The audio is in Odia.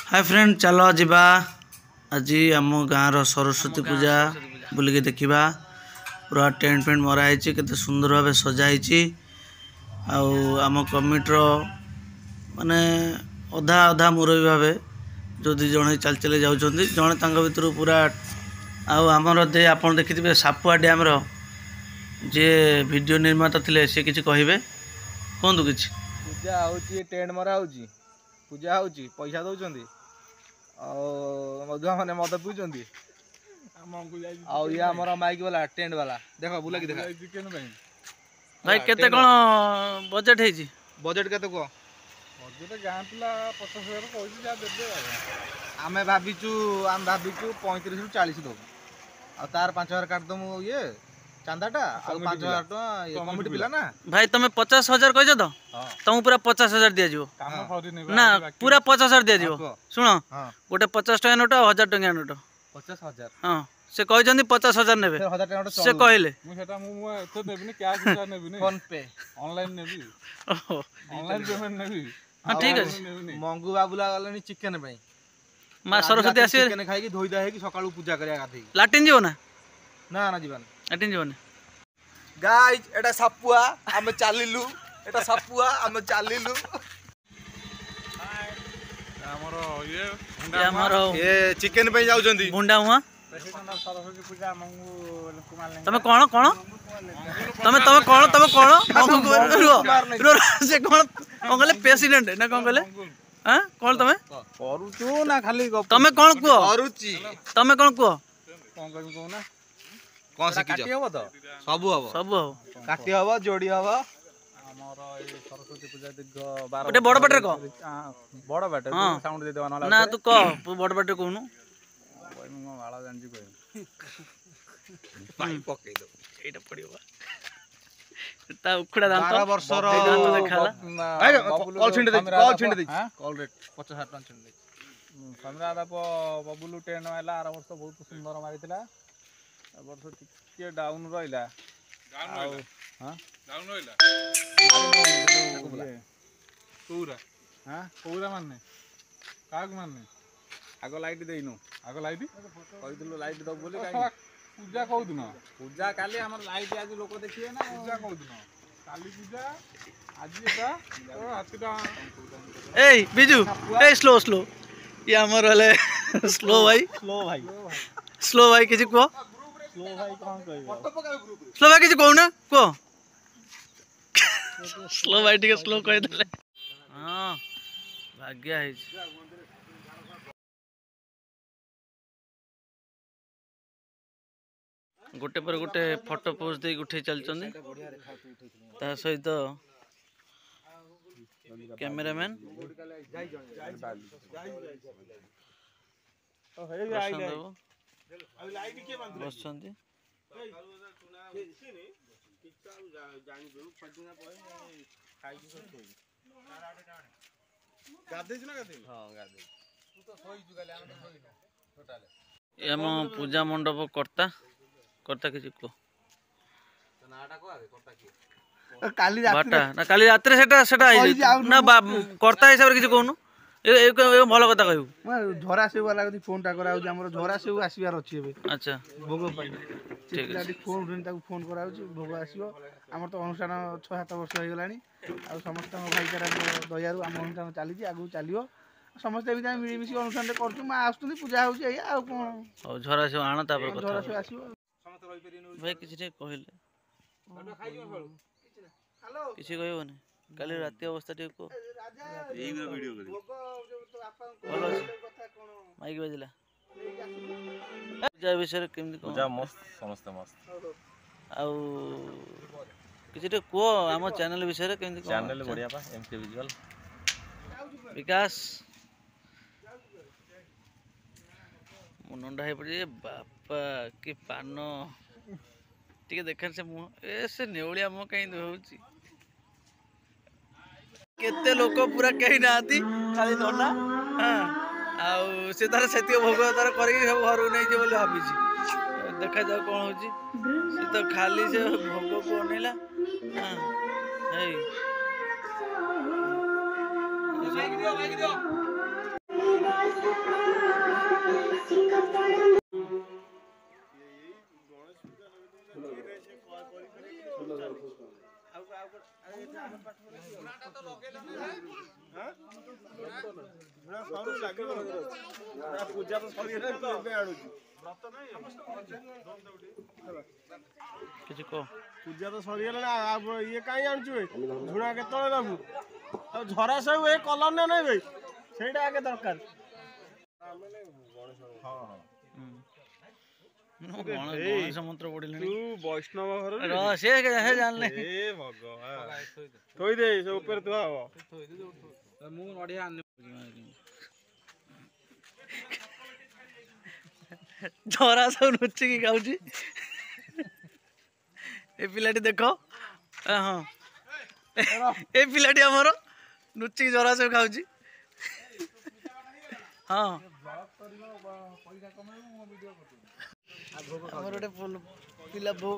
ହାଏ ଫ୍ରେଣ୍ଡ, ଚାଲ ଯିବା ଆଜି ଆମ ଗାଁର ସରସ୍ୱତୀ ପୂଜା ବୁଲିକି ଦେଖିବା। ପୁରା ଟେଣ୍ଟ ଫେଣ୍ଟ ମରା ହେଇଛି, କେତେ ସୁନ୍ଦର ଭାବେ ସଜା ହେଇଛି। ଆଉ ଆମ କମିଟିର ମାନେ ଅଧା ଅଧା ମୁରବୀ ଭାବେ ଯେଉଁ ଦୁଇ ଜଣ ଚାଲି ଚାଲି ଯାଉଛନ୍ତି, ଜଣେ ତାଙ୍କ ଭିତରୁ ପୁରା। ଆଉ ଆମର ଦେ ଆପଣ ଦେଖିଥିବେ ସାପୁଆ ଡ୍ୟାମ୍ର ଯିଏ ଭିଡ଼ିଓ ନିର୍ମାତା ଥିଲେ, ସେ କିଛି କହିବେ, କୁହନ୍ତୁ କିଛି। ପୂଜା ହେଉଛି, ଟେଣ୍ଟ ମରା ହେଉଛି, ପୂଜା ହେଉଛି, ପଇସା ଦେଉଛନ୍ତି ଆଉ ମଧୁଆ ମାନେ ମଦ ପିଉଛନ୍ତି। ଆଉ ଇଏ ଆମର ମାଇକ୍ ବାଲା, ଟେଣ୍ଟ ବାଲା, ଦେଖ ବୁଲାକି ଦେଖ। ଭାଇ, କେତେ କ'ଣ ବଜେଟ୍ ହେଇଛି? ବଜେଟ୍ କେତେ କୁହ? ବଜେଟ୍ ଗାଁ ପିଲା 50,000 କହିଛି, ଯାହା ଦେବେ। ଆଉ ଆମେ ଭାବିଛୁ 35ରୁ 40 ଦେବୁ, ଆଉ ତାର 5,000 କାଟିଦେବୁ ଇଏ ଚାନ୍ଦାଟା, ଆଉ 5,000 ଟଙ୍କା କମିଟି ପିଲା ନା। ଭାଇ, ତମେ 50,000 କହିଛ ତ? ତମକୁ ପୁରା 50,000 ଦିଆଯିବ। ନା, ପୁରା 50,000 ଦିଆଯିବ। ଶୁଣ, ଗୋଟେ 50 ଟଙ୍କା ନୋଟ ଆଉ 1,000 ଟଙ୍କିଆ ନୋଟ। 50,000? ହଁ, ସେ କହିଛନ୍ତି 50,000 ନେବେ, ସେ କହିଲେ। ମୁଁ ସେଟା ମୁଁ ଏତେ ଦେବିନି, କ୍ୟାସ୍ ନେବିନି, ଫୋନ ପେ ଅନଲାଇନ ନେବି, ଅନଲାଇନ ପେମେଣ୍ଟ ନେବି। ହଁ, ଠିକ ଅଛି। ମଙ୍ଗୁ ବାବୁଲା ଗଲେଣି ଚିକେନ ପାଇଁ। ମା ସରସ୍ୱତୀ ଆସିବେ, ଚିକେନ ଖାଇକି ଧୋଇ ଧୁଆ ହେଇକି ସକାଳୁ ପୂଜା କରିବା ଗାଧେଇକି। ଲାଟିନ୍ ଯିବ ନା? ନା ନା, ଯିବାନି। ଲାଟିନ୍ ଯିବନି। ଗାଇଜ, ଏଟା ସାପୁଆ, ଆମେ ଚାଲିଲୁ। ଏଟା ସାପୁଆ, ଆମେ ଚାଲିଲୁ। ଆମର ଇଏ ଆମର ଏ ଚିକେନ ପାଇଁ ଯାଉଛନ୍ତି। ବୁଣ୍ଡା ମୁହାଁ। ତମେ କ'ଣ କ'ଣ ତମେ ତମେ କ'ଣ ତମେ କ'ଣ ରୁହ, ସେ କ'ଣ କ'ଣ କହିଲେ? ପ୍ରେସିଡେଣ୍ଟ ନା କ'ଣ କହିଲେ? ଆଁ, କ'ଣ ତମେ କରୁଛୁ ନା ଖାଲି? ତମେ କ'ଣ କୁହ? କରୁଛି। ତମେ କ'ଣ କୁହ? କ'ଣ କହିବି କହୁନା? କ'ଣ ଶିଖିଛ? ହବ ତ? ସବୁ ହବ। ସବୁ ହବ। କାଟି ହବ, ଯୋଡ଼ି ହବ। ଆମର ଏଇ ସରସ୍ୱତୀ ପୂଜା ଦୀର୍ଘ 12 ଗୋଟେ ବଡ ପାଟିରେ କହ। ବଡ ପାଟିରେ ସାଉଣ୍ଡ ଦେଇଦେବା ନହେଲେ। ନା, ତୁ କହ, ବଡ ପାଟିରେ କହୁନୁ। କହିବି ମୋ ବାଳ ଜାଣିଛି କହିବି। ପାଇ ପକେଇ ଦବୁ। ଏଇଟା ପଡିବ ତା ଉଖୁଡା ଦାନ୍ତ। 12 ବର୍ଷର ଦାନ୍ତ ଦେଖାଲା। କଲ୍ ଛିଣ୍ଡି ଦେଇଛି, କଲ୍ ଛିଣ୍ଡି ଦେଇଛି, କଲ୍ ରେଟ୍ 50,000 ଟଙ୍କା ଛିଣ୍ଡି ଦେଇଛି। ସମୀରା ଦା ବବୁଲୁ ଟେଣ୍ଟ ମାରିଲା। ଆର ବର୍ଷ ବହୁତ ସୁନ୍ଦର ମାରିଥିଲା, ଏ ବର୍ଷ ଟିକେ ଡାଉନ୍ ରହିଲା। ଆଉ ହଁ, କୋଉରା? ହଁ, କୋଉରା ମାନେ କାହାକୁ ମାନେ? ଆଗ ଲାଇଟ୍ ଦେଇନୁ, ଆଗ ଲାଇଟ୍ କହିଥିଲୁ ଲାଇଟ୍ ଦବୁ ବୋଲି। ପୂଜା କୋଉଦିନ? ପୂଜା କାଲି। ଆମର ଲାଇଟ୍ ଆଜି, ଲୋକ ଦେଖିବେ ନା। ପୂଜା କୋଉଦିନ? କାଲି ପୂଜା, ଆଜି ଏଟା ହାତୀଟା। ଏଇ ବିଜୁ, ଏଇ ସ୍ଲୋ ସ୍ଲୋ। ଇଏ ଆମର ହେଲେ ସ୍ଲୋ ଭାଇ। ସ୍ଲୋ ଭାଇ। ସ୍ଲୋ ଭାଇ, କିଛି କୁହ। ସ୍ଲୋ ଭାଇ କ'ଣ କହିବ? ସ୍ଲୋ ଭାଇ, କିଛି କହୁନା, କୁହ। ସ୍ଲୋ ଭାଇ ଟିକେ ସ୍ଲୋ କହିଦେଲେ। ହଁ, ଭାଗ୍ୟ ହେଇଛି। ଗୋଟେ ପରେ ଗୋଟେ ଫଟୋ ପୋଜ୍ ଦେଇକି ଉଠେଇ ଚାଲିଛନ୍ତି, ତା ସହିତ କ୍ୟାମେରାମ୍ୟାନ୍ ପ୍ରଶାନ୍ତ ବାବୁ ବସିଛନ୍ତି। ଗାଧେଇଛୁ ନା ଗାଧେଇନୁ? ହଁ, ଗାଧେଇଛୁ। ତୁ ତ ଶୋଇଛୁ କାଲି, ଆମେ ତ ଶୋଇନା ଟୋଟାଲେ। ଏ ଆମ ପୂଜା ମଣ୍ଡପ କର୍ତ୍ତା। କର୍ତ୍ତା, କିଛି କୁହ। କାଲି ବାଟା ନା କାଲି ରାତିରେ ସେଟା ସେଟା ହେଇଛି ନା? କର୍ତ୍ତା ହିସାବରେ କିଛି କହୁନୁ। ଏ ଭଲ କଥା କହିବୁ। ଝରା ସେଉ ବାଲା କତିକି ଫୋନଟା କରାହଉଛି। ଆମର ଝରା ସେଉ ଆସିବାର ଅଛି ଏବେ। ଆଚ୍ଛା। ଭୋଗ ପାଇଁ। ଠିକ ଅଛି। ଫୋନ ତାକୁ ଫୋନ କରାହଉଛି, ଭୋଗ ଆସିବ। ଆମର ତ ଅନୁଷ୍ଠାନ 6-7 ବର୍ଷ ହେଇଗଲାଣି, ଆଉ ସମସ୍ତଙ୍କ ଭାଇଚାରାଙ୍କ ଦୟାରୁ ଆମ ଅନୁଷ୍ଠାନ ଚାଲିଛି, ଆଗକୁ ଚାଲିବ। ସମସ୍ତେ ଏମିତି ଆମେ ମିଳିମିଶି ଅନୁଷ୍ଠାନରେ କରୁଛୁ। ମା ଆସୁଛନ୍ତି, ପୂଜା ହେଉଛି, ଏଇଆ ଆଉ କ'ଣ। ହଉ, ଝରା ସେଉ ଆଣ, ତାପରେ କଥା। ଝରା ସେଉ ଆସିବ। ଭାଇ, କିଛି ଟିକେ କହିଲେ। କିଛି କହିବନି? କାଲି ରାତି ଅବସ୍ଥା ଟିକେ କୁହ। ଭଲ ଅଛି? ମାଇକ୍ ବାଜିଲା। ପୂଜା ବିଷୟରେ କେମିତି ପୂଜା? ମସ୍ତ, ସମସ୍ତେ ମସ୍ତ। ଆଉ କିଛି ଟିକେ କୁହ ଆମ ଚ୍ୟାନେଲ ବିଷୟରେ, କେମିତି? ଚ୍ୟାନେଲ ବଢିଆ ପା, ଏମକେ ଭିଜୁଆଲ। ବିକାଶ, ମୁଁ ନଣ୍ଡା ହେଇ ପଡ଼ିଛି। ବାପା, କି ପାନ ଟିକେ ଦେଖାନ। ସେ ମୁହଁ, ଏ ସେ ନେଉଳିଆ ମୁହଁ କାହିଁ ହେଉଛି? କେତେ ଲୋକ, ପୁରା କେହି ନାହାନ୍ତି, ଖାଲି ନନା। ହଁ, ଆଉ ସେ ତାର ସେତିକି ଭୋଗ ତାର କରିକି ସବୁ ଘରକୁ ନେଇଯିବ ବୋଲି ଭାବିଛି। ଦେଖାଯାଉ କ'ଣ ହେଉଛି। ସେ ତ ଖାଲି ସେ ଭୋଗକୁ ଅନେଇଲା। ହଁ, ହେଇ। ମାଇକ୍ ଦିଅ, ମାଇକ୍ ଦିଅ। ପୂଜା ତ ସରିଗଲାଣି, ତୁ ଏବେ ଆଣୁଛୁ। କିଛି କହ। ପୂଜା ତ ସରିଗଲାଣି, ଆଉ ଇଏ କାହିଁ ଆଣୁଛୁ ବେ? ଝୁଣା କେତେବେଳେ ଦବୁ? ଆଉ ଝରା ସବୁ ଏ କଲର ନା ନାଇଁ ଭାଇ, ସେଇଟା ଆଗେ ଦରକାର। ଗଣେଶ ମନ୍ତ୍ର ପଢିଲେଣି। ତୁ ବୈଷ୍ଣବ ଘର ସେ ଜାଣିଲେ। ଏ ଭଗବାନ, ଥୋଇଦେ ସେ ଉପରେ ଥୁଆ ହବ। ମୁଁ ନଡ଼ିଆ ଆଣିନି। ଝରା ସବୁ ଲୁଚିକି ଖାଉଛି ଏ ପିଲାଟି ଦେଖ। ହଁ, ଏ ପିଲାଟି ଆମର ଲୁଚିକି ଝରା ସବୁ ଖାଉଛି। ହଁ, ଆମର ଗୋଟେ ପିଲା ଭୋଗ।